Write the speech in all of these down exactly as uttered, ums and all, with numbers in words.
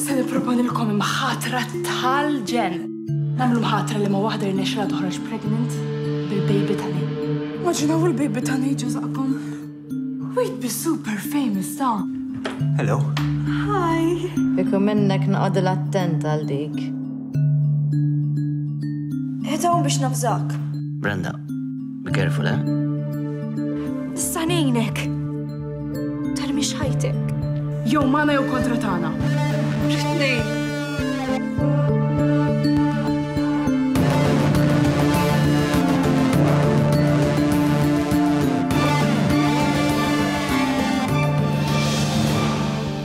Se nipproponilkom imħatra tal-ġenn. Nagħmlu mħatra li ma waħda jirnexxilha toħroġ pregnant bil-baby ta' Nate. Immaġinaw il-baby ta' Nate ġo żaqqkom. We'd be super famous, ta. Hello. Hi. Kieku minnek noqgħod attent għal dik. Ħedawm biex nafżak. Brenda, be careful, eh? Nista' ngħinek. Tarmix ħajtek. Jew magħna jew kontra tagħna. Tnejn.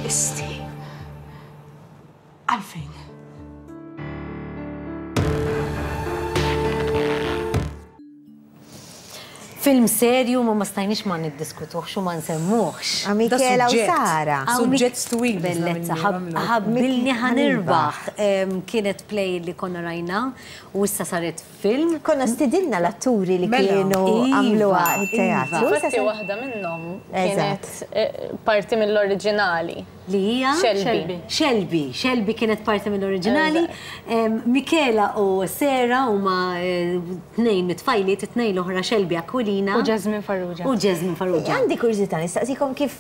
Isti. Għalfejn. Film serju ma ma stajniex ma niddiskutuhx u ma nsemmuhx. Michela u Sara. Suġġett twil. Bellezza, ħabbilni ħa nirbaħ. Kienet play li konna rajna u issa saret film. Konna stidinna l-atturi li Mela. kienu Iva, għamluha iva. il-teatru. Infatti waħda minnhom kienet eh, parti mill-oriġinali. Li hija Shelby. Shelby. Shelby kienet parti mill-oriġinali. Em, Michela u Sara huma eh, tnejn mit-tfajliet, it-tnejn l-oħra Shelby Aquilina. U Jasmine Farrugia. U Jasmine Farrugia. Għandi kurżità nistaqsikom kif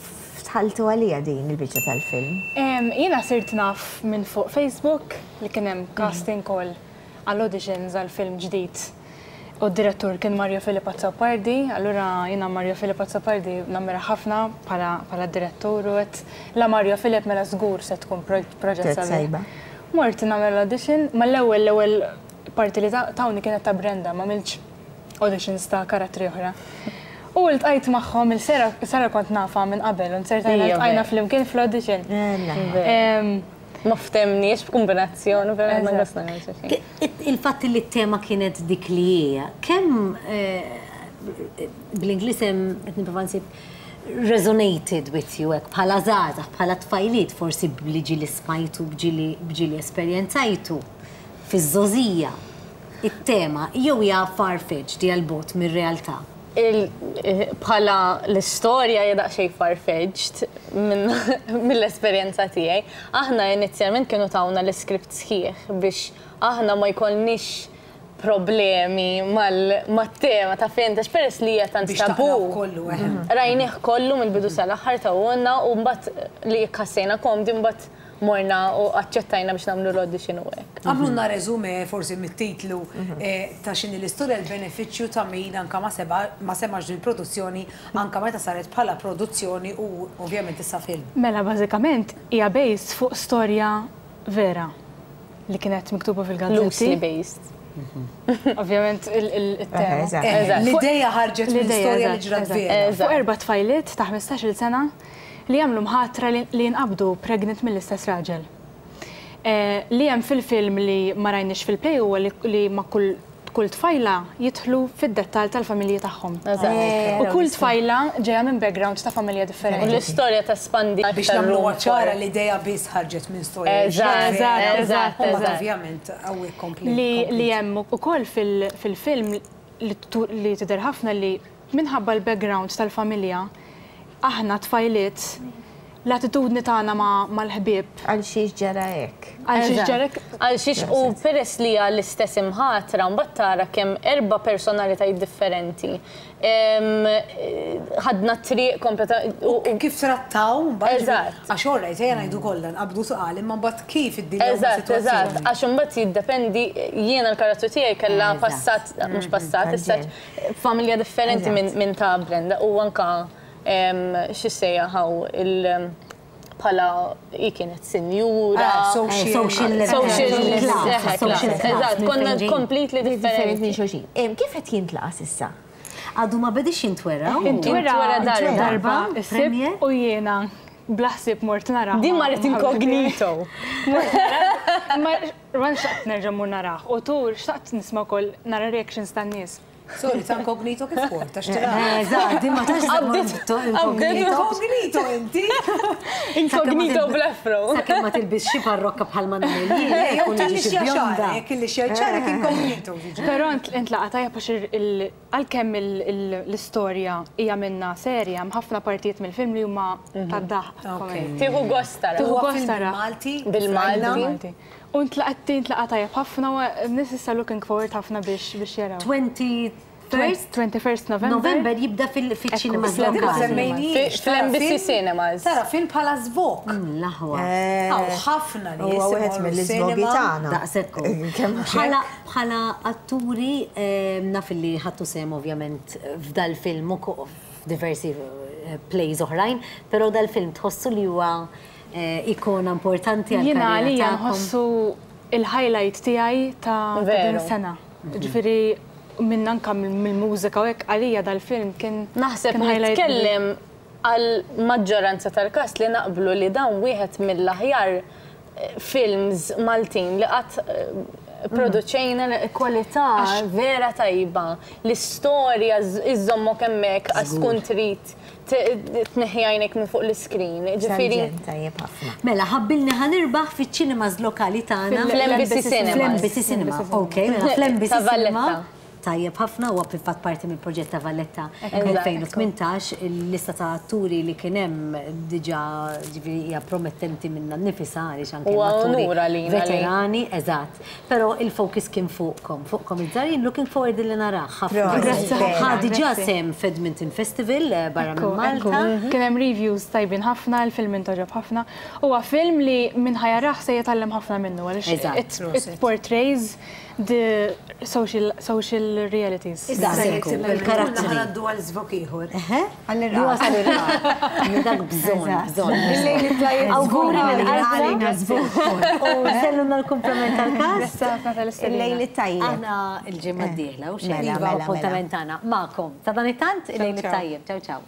dħaltu għalija din il-biċċa tal-film. Em, Jiena sirt naf minn fuq Facebook li kien hemm casting call għall auditions għal film ġdid. U d-direttur kien Mario Philip Azzopardi, allura jiena Mario Philip Azzopardi nammira ħafna bħala bħala direttur u għedt la Mario Philip mela żgur se tkun pro- proġett Proġett sabiħ. sajba. Mort nagħmel l-audition, ma l-ewwel l-ewwel parti li ta- tawni kienet ta' Brenda, ma għamiltx auditions ta' karattri oħra. U ltqajt magħhom il-Sara Sara kont nafa minn qabel, u nsertajna Ija, ltqajna vera. flimkien fl-audition. Ella. Em, Ma ftemniex b'kombinazzjoni, vera ma Eżatt. għasna xejn. Il-fatt li t-tema kienet dik li hija, kemm eh, bl-Ingliż hemm qed nipprova nsib resonated with you hekk bħala żgħażagħ, bħala tfajliet, forsi bli ġieli smajtu, bġieli bġieli esperjenzajtu fiż-żgħożija. It-tema jew hija far-fetched, hija l-bogħod mir-realtà. Il- eh, Bħala l-istorja hija daqsxejn far-fetched minn- mill-esperjenza tiegħi. Aħna inizjalment kienu tawna l-iskript sħiħ biex aħna ma jkollniex problemi mal- mat-tema ta' fejn għax peress li hija tant Biex tabu. taqraw kollu, eħe. Rajnieh kollu mill-bidu sal-aħħar tawna u mbagħad li ħassejna komdi mbagħad morna u aċċettajna biex nagħmlu l-audition u hekk. Għamlulna resume forsi mit-titlu eh, ta' x'inhi l-istorja l-benefiċċju ta' min anka ma seba ma semax il-produzzjoni anka meta saret bħala produzzjoni u ovvjament issa film. Mela, bażikament hija based fuq storja vera li kienet miktuba fil-gazzetti. Loosely based. Ovvjament il-tema. Eżatt. Eh, Eżatt. L-ideja ħarġet minn L-ideja, storja li eżatt, ġrat eżatt. vera. Eżatt. Fuq erba' tfajliet ta' ħmistax-il sena li jagħmlu mħatra li li jinqabdu pregnant mill-istess raġel. Eh, Li hemm fil-film li ma rajniex fil-play huwa li- li ma' kull kull tfajla jidħlu fid-dettall tal-familji tagħhom. Eżatt. U kull tfajla ġejja minn background ta' familja U differenti. l-istorja ta' spandi Biex nagħmlu ċara l-ideja biss ħarġet minn storja. li Eżatt, ġrat vera. eżatt, U mbagħad eżatt. ovvjament hawnhekk kompli. Li li hemm ukoll fil- fil-film li tu- li tidher ħafna li minħabba l-background tal-familja aħna tfajliet l-attitudni tagħna ma' mal-ħbieb Għal xiex ġara hekk. għal xi Eżatt. ġarek Għal xiex u peress li hija l-istess imħatra, mbagħad tara kemm erba' personalitajiet differenti. Em, eh, Ħadna triq kompleta u- u- Kif trattaw, mbagħad Eżatt. Għax orrajt, ejja ngħidu kollha nqabdu tqal, imma mbagħad kif iddiljaw Eżatt, eżatt, għax imbagħad jiddependi jiena l-karattru tiegħi kellha Eżatt. passat, mhux passat, issa familja differenti minn min ta' Brenda u anka em, x'issejjaħ il bħala hi kienet sinjura. Ah, social. Eh, social Social class, eħe, social class, class, Eżatt, minn konna fejn ġejjin. completely Differenti minn differenti. xulxin. Em, Kif qed jintlaqa s'issa? Għadu ma bedix jintwera. Intwera Intwera darba. darba, is-sibt Premiere. u jiena bla ħsieb mort nara. Din marret incognito. Ma ma xtaqt nerġa' mmur narah. U tur xtaqt nisma' wkoll nara reactions tan-nies. Sorry, ta' inkognito kif kont, ta' xtira. Eżatt, ma tax Inkognito inti. Inkognito bl-afro. Sakemm ma tilbis xi parrokka bħal ma nagħmel jien. Jew tal-lixja xagħrek, il-lixja xagħrek inkognito. Però intlaqa tajjeb għax għalkemm l-istorja hija minna serja, hemm ħafna partijiet mill-film li huma tad-daħq. Tieħu gost tara. Tieħu gost tara. Malti. Bil-Malti. U ntlaqat intlaqa tajjeb ħafna u nies issa looking forward ħafna biex biex jaraw. twenty-first November. November jibda fil-ċinema lokali. Fl-M B C Cinemas. Tara film bħala żvok. L-aħwa. Hawn ħafna nies. Huwa wieħed mill-iżvogi tagħna. Daqshekk. Bħala atturi naf li ħadtu sehem ovvjament f'dal-film u f'diversi plays oħrajn, però dal-film tħossu li huwa ikona importanti għal Jiena għalija nħossu il-highlight tiegħi ta' din is-sena. Ġifieri minn anka mill-mużika u hekk għalija dal-film kien Naħseb nitkellem għal maġġoranza tal-kast li naqblu li dan wieħed mill-aħjar films Maltin li qatt produċejna, kwalità vera tajba. L-istorja iżommok hemmhekk għax tkun trid tneħħi għajnek minn fuq l-iskrin. Ġifieri. Mela, ħabbilni ħa nirbaħ fiċ-ċinemas lokali tagħna. Fl-M B C Cinemas. Fl-M B C Cinema. Ok, mela fl-M B C Cinema. Tajjeb ħafna, huwa fil-fatt parti mill-proġett ta' Valletta elfejn u tmintax, il-lista ta' atturi li kien hemm diġà ġifieri hija promettenti minna nnifisha għaliex anke atturi veterani, eżatt. Però il-focus kien fuqkom, fuqkom iż-żgħar, looking forward li narah ħafna. Ħa diġà sehem f'Edmonton Festival barra minn Malta. Kien hemm reviews tajbin ħafna, il-film intogħġob ħafna. Huwa film li min ħa jarah se jitgħallem ħafna minnu għaliex it portrays the social, social realities. Il-karatteri. Għaddu għal żvok ieħor. Għall-irqad. Dak bżonn, bżonn. Awguri minn qalbna. U selluna l-kumplament tal-kast. Il-lejl it-tajjeb. Aħna l-ġimgħa d-dieħla u xejn. Appuntament tagħna magħkom. Ta' dan it-tant, il-lejl it-tajjeb. Ciao, ciao.